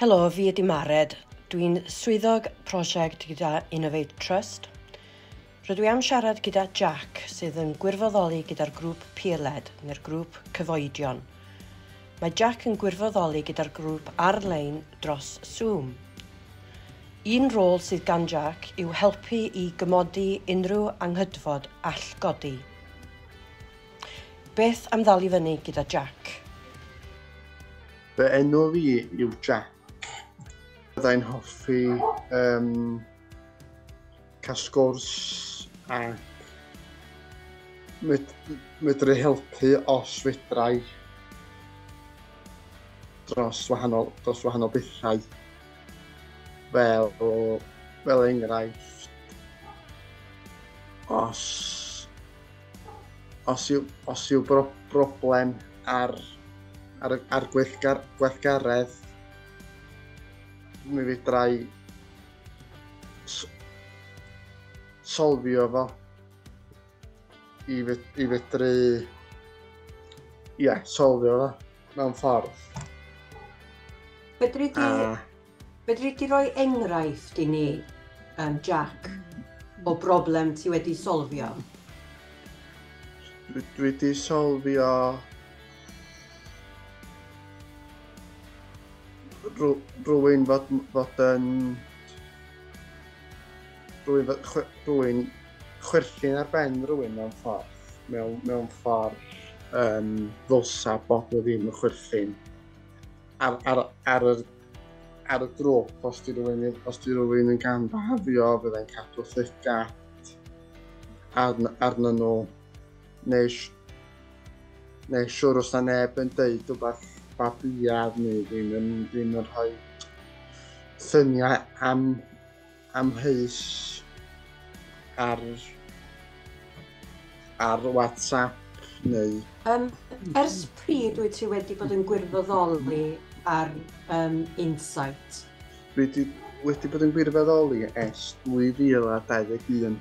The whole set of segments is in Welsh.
Helo, fi ydi Mared. Dwi'n swyddog prosiect gyda Innovate Trust. Rydw i am siarad gyda Jack sydd yn gwirfoddoli gyda'r grŵp Peer-led, neu'r grŵp Cyfoedion. Mae Jack yn gwirfoddoli gyda'r grŵp ar-lein dros Zoom. Un rôl sydd gan Jack yw helpu i gymodi unrhyw anghydfod all godi. Beth am ddal i fyny gyda Jack? Fy enw fi yw Jack. Byddai'n hoffi cael sgwrs ac medru helpu os fedrai dros wahanol bethau fel enghraifft os yw broblem ar gweithgaredd, mi fedrai solfio fo i fedru, solfio fo mewn ffordd. Fedri di roi enghraifft i ni, Jack, o broblem ti wedi solfio? Dwi wedi solfio rhywun fod yn rhywun chwerthin ar ben rhywun mewn ffordd, ddylsa bod o ddim yn chwerthin ar y grŵp. Os di rhywun yn gamfafio, fyddai'n cadw llygad arnyn nhw, neu siwr os na neb yn deud rhywbeth babiad neu ddim yn rhoi lluniau amheus ar WhatsApp neu... Ers pryd wyt ti wedi bod yn gwirfoddoli ar Insight? Dwi wedi bod yn gwirfoddoli ers 2021.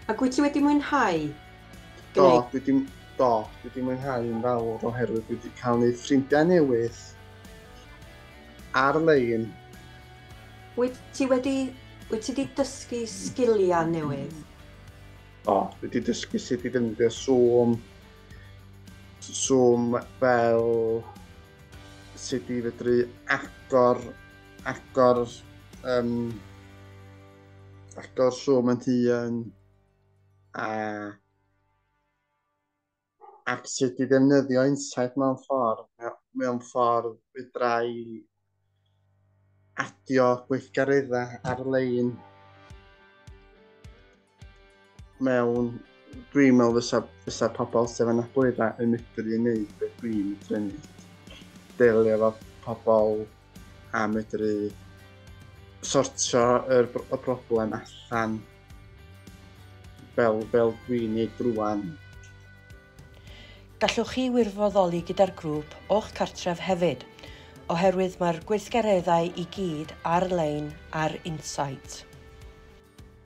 Ac wyt ti wedi mwynhau? Do, dwi wedi mwynhau yn fawr oherwydd dwi wedi cael neud ffrindiau newydd ar-lein. Wyt ti wedi dysgu sgiliau newydd? Do, dwi wedi dysgu sut i ddefnyddio Zoom fel sut i fedru agor Zoom yn hun ac sut i ddefnyddio Insight mewn ffordd fedrai adio gweithgareddau ar-lein mewn. Dwi'n meddwl fysa pobl sydd efo anableddau yn medru wneud beth dwi'n medru wneud. Delio efo pobl a medru sortio y broblem allan fel dwi'n neud rŵan. Gallwch chi wirfoddoli gyda'r grŵp o'ch cartref hefyd, oherwydd mae'r gweithgareddau i gyd ar-lein ar Insight.